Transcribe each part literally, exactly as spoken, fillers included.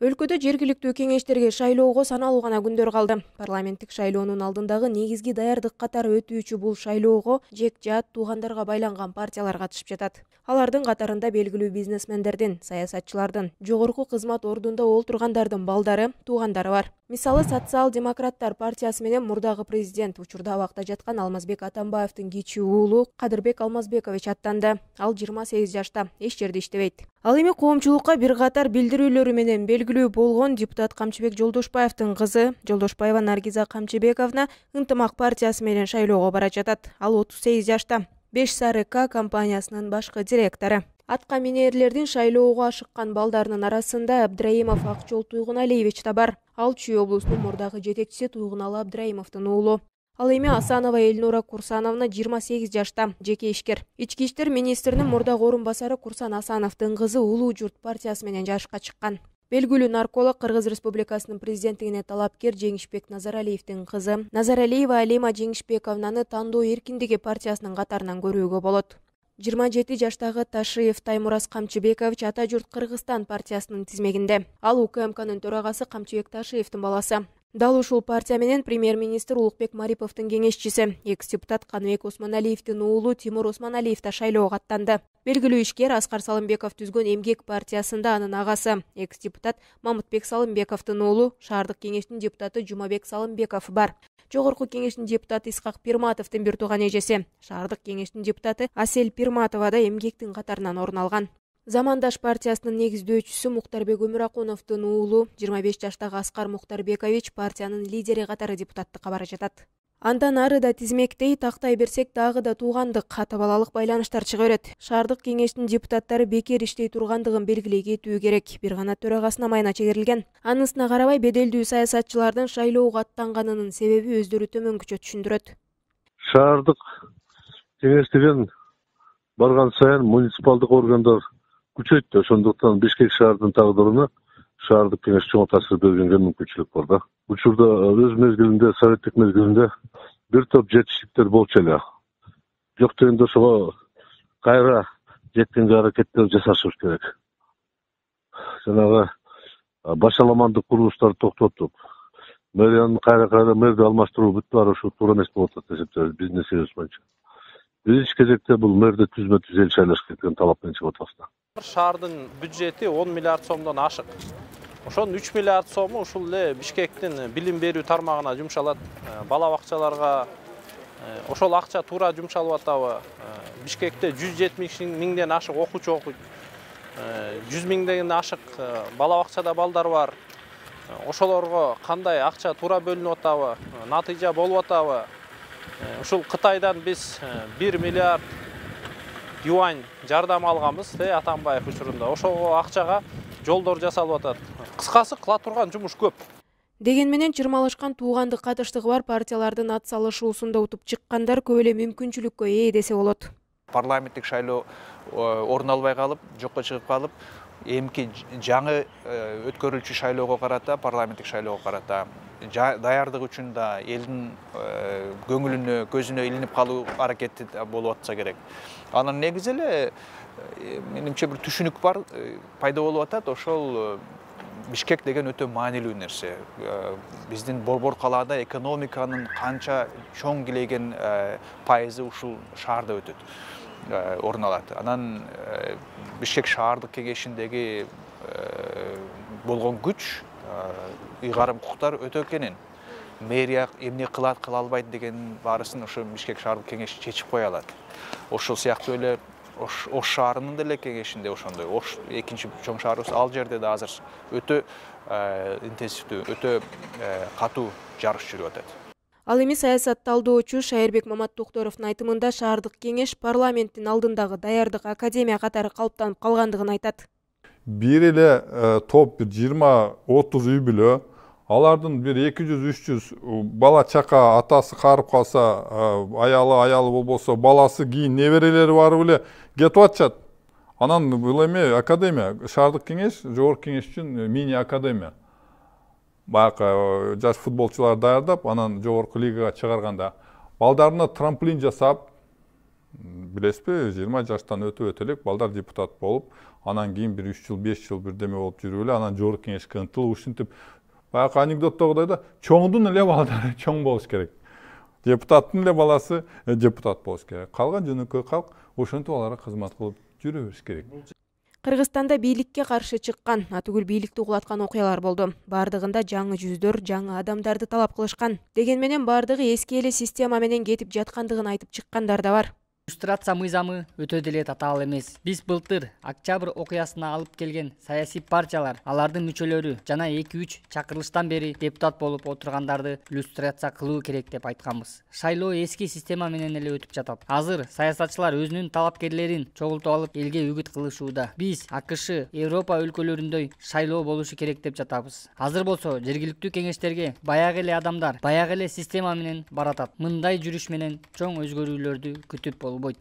Өлкөдө жергиликтүү кеңештерге шайлоого саналуу гана күндөр калды. Парламенттик шайлоонун алдындагы негизги даярдык катары өтүүчү бул шайлоого жек жаат туугандарга байланган партиялар катышып жатат. Алардын катарында белгилүү бизнесмендердин, саясатчылардын, жогорку кызмат ордунда олтургандардын балдары, туугандары бар. Мисалы, Социал-демократтар партиясы менен мурдагы президент, учурда абакта жаткан Алмазбек Атамбаевдин кичи уулу Кадырбек Алмазбекович аттанды. Ал жыйырма сегиз жашта, эч жерде иштебейт. Ал эми коомчулукка бир катар билдирүүлөрү менен белгилүү болгон депутат Камчыбек Жолдошбаевдин кызы Жолдошбаева Наргиза Камчыбековна Ынтымак партиясы менен шайлоого бара жатат. Ал отуз сегиз жашта. Беш Сары К компаниясынын башкы директору. Атка минерлердин шайлоого ашыккан балдарынын арасында Абдраимов Акчол Туйгуналиевич да бар. Ал Чүй облусунун мурдагы жетекчиси Туйгуналы Абдраимовдун уулу. Ал эми Асанова Эльнура Курсановна жыйырма сегиз жашта, жеке ишкер. Ички иштер министринин мурдагы орун басары Курсан Асановдун кызы Улуу журт партиясы менен жашка чыккан. Белгилүү нарколог Кыргыз Республикасынын президенттигине талапкер Жеңишбек Назаралиевдин кызы Назаралиева Алима Жеңишбековнаны тандоо эркиндиги партиясынын катарынан көрүүгө болот. жыйырма жети жаштагы Ташиев Таймураз Камчыбекович Ата журт Кыргызстан партиясынын тизмегинде. Ал УКМКнын төрагасы Камчыбек Ташиевдин баласы. Дал ушул партия менен премьер-министр Улукбек Мариповдун кеңешчиси, экс-депутат Каныбек Осмоналиевдин уулу Тимур Осмоналиев да шайлоого аттанды. Белгилүү ишкер Аскар Салымбеков түзгөн Эмгек партиясында анын агасы, экс-депутат Мамытбек Салымбековдун уулу шаардык кеңештин депутаты Жумабек Салымбеков бар. Жогорку кеңештин депутаты Исхак Пирматовдун бир тууган эжеси, шаардык кеңештин депутаты Асель Пирматова да Эмгектин катарынан орун алган. Замандаш партиясынын негиздөөчүсү Муктарбек Өмүракуновдун уулу жыйырма беш жаштагы Аскар Муктарбекович партиянын лидери катары депутаттыкка бара жатат. Андан ары да тизмектей тактай берсек дагы да туугандык, ата балалык байланыштар чыга берет. Шаардык кеңештин депутаттары бекер иштей тургандыгын белгилей кетүү керек. Бир гана төрагасына майына чегерилген. Анысына карабай беделдүү саясатчылардын шайлоого аттанганынын себеби өздөрү төмөнкүчө түшүндүрөт. Шаардык кеңеш деген барган сайын муниципалдык органдар күчөйт, ошондуктан Бишкек шаарынын тагдырына шаардык кеңеш чоң таасир бергенге мүмкүнчүлүк бар да. Учурда өз мезгилинде, советтик мезгилинде бир топ жетишиктер болчу эле. Жок дегенде ошого кайра жеткенге аракеттер жасашыбыз керек. Жанагы башаламандык курулуштарды токтотуп, мэриянын кайра кайра мэрди алмаштыруу бүт баары ушу туура эмес болот деп эсептейбиз биздин эсебибиз боюнча. Биринчи кезекте бул мэрди түзмө түз эл шайлаш керек деген талап менен чыгып атабыз. Шаардын бюджети он миллиард сомдон ашык. Ошонун үч миллиард сому ушул эле Бишкектин билим берүү тармагына жумшалат. Бала бакчаларга ошол акча туура жумшалып атабы? Бишкекте жүз жетимиш миңден ашык окуучу окуйт. жүз миңден ашык бала бакчада балдар бар. Ошолорго кандай акча туура бөлүнүп атабы? Натыйжа болуп атабы? Ушул Кытайдан биз бир миллиард юань жардам алганбыз, Атамбаев учурунда. Ошого акчага жолдор жасалып атат. Кыскасы кыла турган жумуш көп. Деген менен чырмалышкан туугандык катыштыгы бар партиялардын ат салышуусунда утуп чыккандар көп эле мүмкүнчүлүккө ээ десе болот. Парламенттик шайлоо орун албай калып, жокко чыгып калып, эмки жаңы өткөрүлчү шайлоого карата, парламенттик шайлоого карата даярдык үчүн да элдин көңүлүнө, көзүнө илинип калуу аракети болуп атса керек. Анын негизи эле менимче бир түшүнүк бар, пайда болуп атат. Ошол Бишкек деген өтө маанилүү нерсе. Биздин борбор калаада экономиканын канча чоң килейген пайызы ушул шаарда өтөт, орун алат. Анан Бишкек шаардык кеңешиндеги болгон күч, ыйгарым укуктар өтө кенен. Мэрия эмне кылат, кыла албайт деген баарысын ошо Бишкек шаардык кеңеши чечип кое алат. Ошол сыяктуу эле Ош шаарынын деле кеңешинде ошондой. Ош экинчи чоң шаарыбыз, ал жерде да азыр өтө интенсивдүү, өтө катуу жарыш жүрүп атат. Ал эми саясат талдоочу Шайырбек Маматтокторовдун айтымында шаардык кеңеш парламенттин алдындагы даярдык академия катары калыптанып калгандыгын айтат. Бир эле топ бир жыйырма отуз үй бүлө, алардын бир эки жүз үч жүз бала чака, атасы карып калса, аялы аялы болбосо, баласы кийин неберелери барып эле кетип атышат. Анан бул эми академия, шаардык кеңеш, жогорку кеңеш үчүн мини академия. Баягы жаш футболчулар даярдап, анан жогорку лигага чыгарганда балдарына трамплин жасап, билесизби, жыйырма жаштан өтүп өтө элек балдар депутат болуп, анан кийин бир үч жыл, беш жыл бирдеме болуп жүрүп эле, анан жогорку кеңешке ынтылып, ушинтип баягы анекдоттогудой да чоңдун эле балдары чоң болуш керек. Депутаттын эле баласы депутат болуш керек. Калган жөнөкөй калк ошентип аларга кызмат кылып жүрө бериш керек. Кыргызстанда бийликке каршы чыккан, атүгүл бийликти угулаткан окуялар болду. Бардыгында жаңы жүздөр, жаңы адамдарды талап кылышкан. Деген менен бардыгы эски эле система менен кетип жаткандыгын айтып чыккандар да бар. Иллюстрация мыйзамы өтө деле татаал эмес. Биз былтыр октябрь окуясына алып келген саясий партиялар, алардын мүчөлөрү жана эки үч чакырылыштан бери депутат болуп отургандарды иллюстрация кылуу керек деп айтканбыз. Шайлоо эски система менен эле өтүп жатат. Азыр саясатчылар өзүнүн талапкерлерин чогултуп алып элге үгүт кылышууда. Биз АКШ, Европа өлкөлөрүндөй шайлоо болушу керек деп жатабыз. Азыр болсо жергиликтүү кеңештерге баягы эле адамдар, баягы эле система менен баратат. Мындай жүрүш менен чоң өзгөрүүлөрдү күтүп болбойт.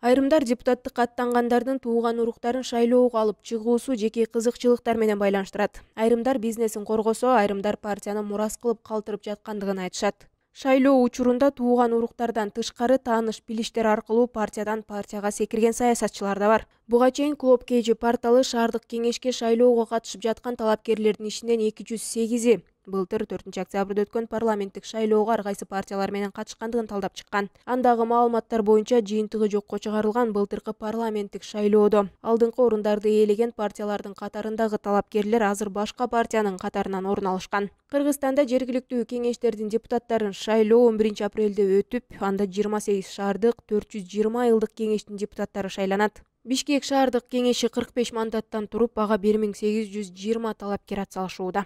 Айрымдар депутаттыкка аттангандардын тууган уруктарын шайлоого алып чыгуусу жеке кызыкчылыктар менен байланыштырат. Айрымдар бизнесин коргосо, айрымдар партияны мурас кылып калтырып жаткандыгын айтышат. Шайлоо учурунда тууган уруктардан тышкары тааныш билиштер аркылуу партиядан партияга секирген саясатчылар да бар. Буга чейин Клоп кей жи порталы шаардык кеңешке шайлоого катышып жаткан талапкерлердин ичинен эки жүз сегизи былтыр төртүнчү октябрда өткөн парламенттик шайлоого ар кайсы партиялар менен катышкандыгын талдап чыккан. Андагы маалыматтар боюнча жыйынтыгы жокко чыгарылган былтыркы парламенттик шайлоодо алдыңкы орундарды ээлеген партиялардын катарындагы талапкерлер азыр башка партиянын катарынан орун алышкан. Кыргызстанда жергиликтүү кеңештердин депутаттарын шайлоо он биринчи апрелде өтүп, анда жыйырма сегиз шаардык, төрт жүз жыйырма айылдык кеңештин депутаттары шайланат. Бишкек шаардык кеңеши кырк беш мандаттан туруп, ага бир миң сегиз жүз жыйырма талапкер атсалышууда.